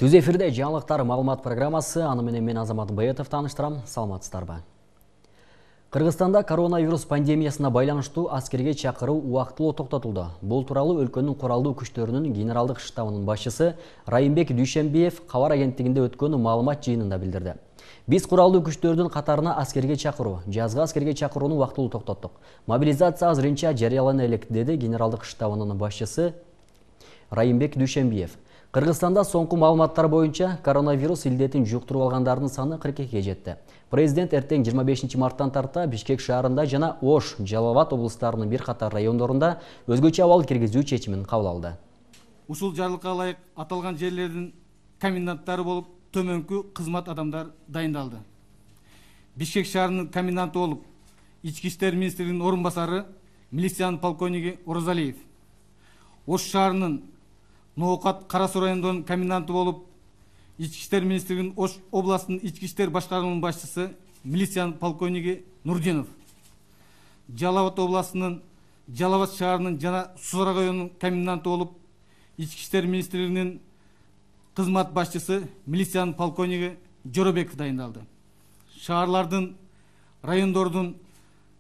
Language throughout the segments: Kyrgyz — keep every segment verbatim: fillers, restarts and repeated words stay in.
Түз эфирде жаңылыктар маалымат программасы, аны менен мен Азамат Баетов тааныштырам. Саламатсыздарбы. Кыргызстанда коронавирус пандемиясына байланыштуу аскерге чакыруу убактылуу токтотулду. Бул тууралуу өлкөнүн куралдуу күчтөрүнүн генералдык штабынын башчысы Райымбек Дүйшөнбиев кабар агенттигинде өткөн маалымат жыйынында билдирди. Биз куралдуу күчтөрдүн катарына аскерге чакыруу, жазгы аскерге чакырууну убактылуу токтоттук. Мобилизация азырынча жарыялана элек, деди генералдык штабынын башчысы Райымбек Дүйшөнбиев. Кыргызстанда соңку маалыматтар боюнча коронавирус илдетин жуктуруп алгандардын саны кырк экиге жетти. Президент эртең жыйырма бешинчи марттан тарта Бишкек шаарында жана Ош, Жалал Абад облустарынын бир катар райондорунда өзгөчө абал киргизүү чечимин кабыл алды. Ушул жарлыкка ылайык аталган жерлердин коменданттары болуп төмөнкү кызмат адамдар дайындалды. Бишкек шаарынын коменданты болуп Ички иштер министринин орун басары милициянын полковниги Оразалиев. Ош шаарынын Ноокат Кара Суу районунун коменданты болуп Ички иштер министринин Ош областынын ички иштер башкармасынын башчысы милициянын полковниги Нурдинов. Жалал Абад областынын Жалал Абад шаарынын жана Сузара районунун коменданты болуп Ички иштер министринин кызмат башчысы милициянын полковниги Жоробеков дайындалды. Шаарлардын, райондордун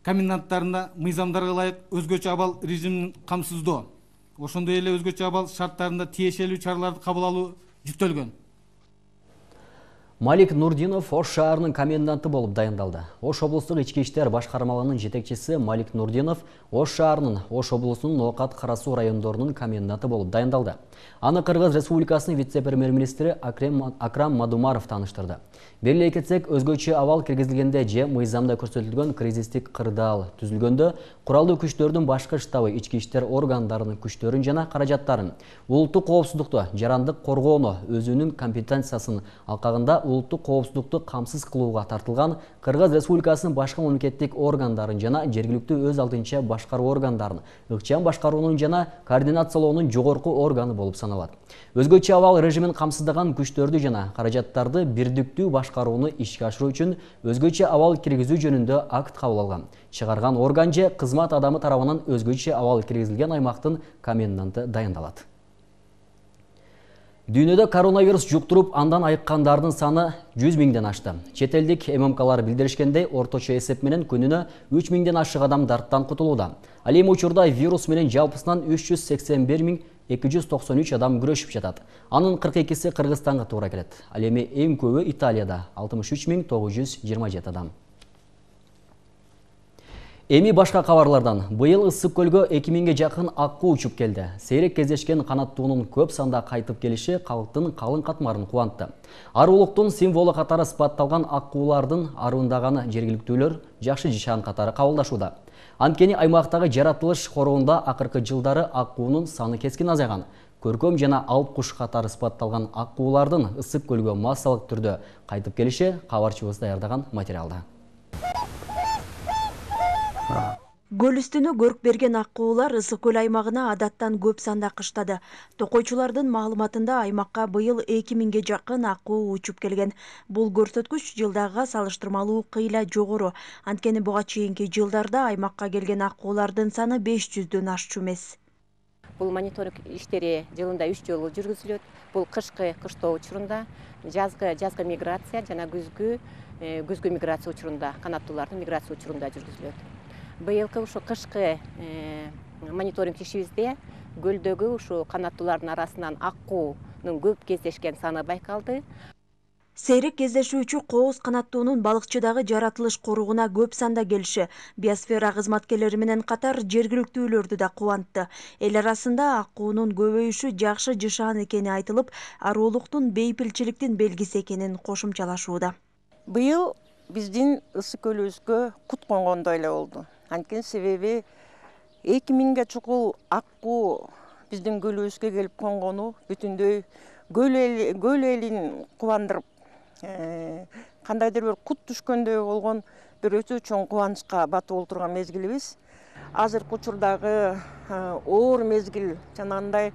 коменданттарына мыйзамдарга ылайык өзгөчө абал режимин камсыздоо, ошондой эле өзгөчө абал шарттарында тиешелүү чараларды кабыл алуу жүктөлгөн. Малик Нурдинов Ош шаарынын коменданты болуп дайындалды. Ош облустук ички иштер башкармалыгынын жетекчиси Малик Нурдинов Ош шаарынын, Ош облусунун Ноокат Кара Суу райондорунун коменданты болуп дайындалды. Аны Кыргыз Республикасынын вице-премьер-министри Акрам Мадумаров тааныштырды. Белгилей кетсек, өзгөчө абал киргизилгенде же мыйзамда көрсөтүлгөн кризистик кырдаал түзүлгөндө куралдуу күчтөрдүн башкы штабы ички иштер органдарынын күчтөрүн жана каражаттарын, улуттук коопсуздукту, жарандык коргоону өзүнүн компетенциясын алкагында улуттук коопсуздукту камсыз кылууга тартылган Кыргыз Республикасынын башка мамлекеттик органдарын жана жергиликтүү өз алдынча башкаруу органдарын ыкчам башкаруунун жана координациялоонун жогорку органы болуп саналат. Өзгөчө абал режимин камсыздаган күчтөрдү жана каражаттарды бирдиктүү башкарууну ишке ашыруу үчүн өзгөчө абал киргизүү жөнүндө акт кабыл алган. Чыгарган орган же кызмат адамы тарабынан өзгөчө абал киргизилген аймактын коменданты дайындалат. Дүйнөдө коронавирус жуктуруп, андан айыккандардын саны жүз миңден ашты. Чет элдик эм эм калар билдиришкендей, орточо эсеп менен күнүнө үч миңден ашык адам дарттан кутулууда. Ал эми учурда вирус менен жалпысынан үч жүз сексен бир миң эки жүз токсон үч адам күрөшүп жатат. Анын кырк экиси Кыргызстанга туура келет. Ал эми эң көбү Италияда алтымыш үч миң тогуз жүз жыйырма жети адам. Эми башка кабарлардан. Быйыл Ысык көлгө эки миңге жакын аккуу учуп келди. Сейрек кездешкен канаттуунун көп санда кайтып келиши калктын калың катмарын кубантты. Арулуктун символу катары сыпатталган аккуулардын арындаганы жергиликтүүлөр жакшы жишан катары кабылдашууда. Анткени аймактагы жаратылыш короонда акыркы жылдары аккуунун саны кескин азайган. Көркөм жана алып куш катары сыпатталган аккуулардын Ысык көлгө массалык түрдө кайтып келиши кабарчыбыз даярдаган материалда. Көл үстүнө көрк берген аккуулар Ысык көл аймагына адаттан көп санда кыштады. Токойчулардын маалыматында аймакка быйыл эки миңге жакын аккуу учуп келген. Бул көрсөткүч жылдагыга салыштырмалуу кыйла жогору. Анткени буга чейинки жылдарда аймакка келген аккуулардын саны беш жүздөн ашчу эмес. Бул мониторинг иштери жылында үч жолу жүргүзүлөт. Бул кышкы кыштоо учурунда, жазгы жазгы миграция жана күзгү күзгү миграция учурунда, канаттуулардын миграция учурунда жүргүзүлөт. Быйылкы ушу кышкы мониторинг ишибизде көлдөгү ушу канаттуулардын арасынан аккуунун көп кездешкен саны байкалды. Сейрек кездешүүчү кооз канаттуунун балыкчыдагы жаратылыш коругуна көп санда келиши биосфера кызматкерлери менен катар жергиликтүүлөрдү да кубантты. Эл арасында аккуунун көбөйүшү жакшы жышаан экени айтылып, арулуктун бейпилчиликтин белгиси экенин кошумчалашууда. Быйыл биздин Ысык көлүбүзгө кут конгондой эле болду. Анткени себеби эки миңге чукул аккуу биздин көлүбүзгө келип конгону бүтүндөй көл элин кубандырып, кандайдыр бир кут түшкөндөй болгон бир өтө чоң кубанычка батып олтурган мезгилибиз. Азыркы учурдагы оор мезгил, жанагындай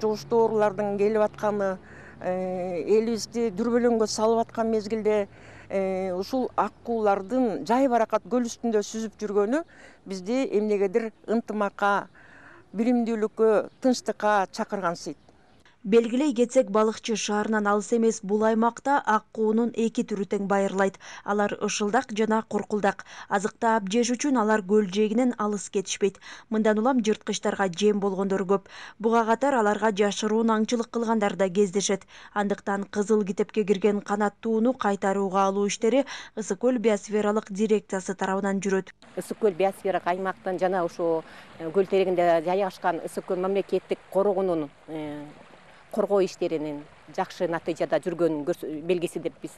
жугуштуу оорулардын келип атканы, элибизди дүрбөлөңгө салып аткан мезгилде ушул аккуулардын жай баракат көл үстүндө сүзүп жүргөнү бизди эмнегедир ынтымакка, биримдүүлүккө, тынчтыкка чакыргансыйт. Белгилей кетсек, балыкчы шаарынан алыс эмес бул аймакта ак куунун эки түрү тең байырлайт. Алар ышылдак жана куркулдак. Азыктап жеш үчүн алар көл жээгинен алыс кетишпейт. Мындан улам жырткычтарга жем болгондор көп. Буга катар аларга жашыруун аңчылык кылгандар да кездешет. Андыктан кызыл китепке кирген канаттууну кайтарууга алуу иштери Ысык көл биосфералык дирекциясы тарабынан жүрөт. Ысык көл биосфералык аймактын жана ошо көл терегинде жайгашкан Ысык көл мамлекеттик коргоонун коргоо иштеринин жакшы натыйжада жүргөнүн белгиси деп биз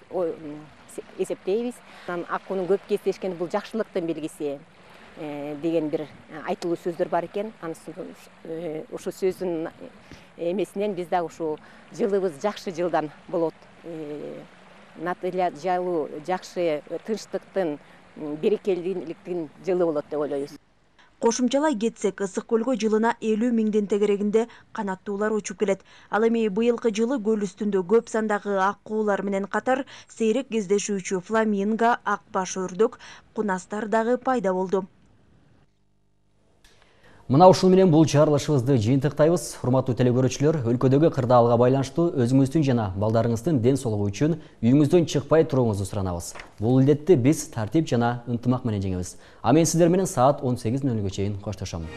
эсептейбиз. Ак куунун көп кездешкени бул жакшылыктын белгиси деген бир айтылуу сөздөр бар экен. Ошо сөздүн эмесинен биз дагы ушу жылыбыз жакшы жылдан болот. Натыйжалуу, жакшы тынчтыктын, берекелүүлүктүн жылы болот деп ойлойбуз. Кошумчалай кетсек, Ысык көлгө жылына элүү миңдин тегерегинде канаттуулар учуп келет. Ал эми быйылкы жылы көл үстүндө көп сандагы ак куулар менен катар сейрек кездешүүчү фламинго, ак баш өрдөк, кунастар дагы пайда болду. Мына ушул менен бул чыгарылышыбызды жыйынтыктайбыз. Урматтуу телекөрүүчүлөр, өлкөдөгү кырдаалга байланыштуу өзүңүздүн жана балдарыңыздын ден соолугу үчүн үйүңүздөн чыкпай турууңузду суранабыз. Бул илдетти биз тартип жана ынтымак менен жеңебиз. А мен сиздер менен саат он сегиз нөл нөлгө чейин коштошом.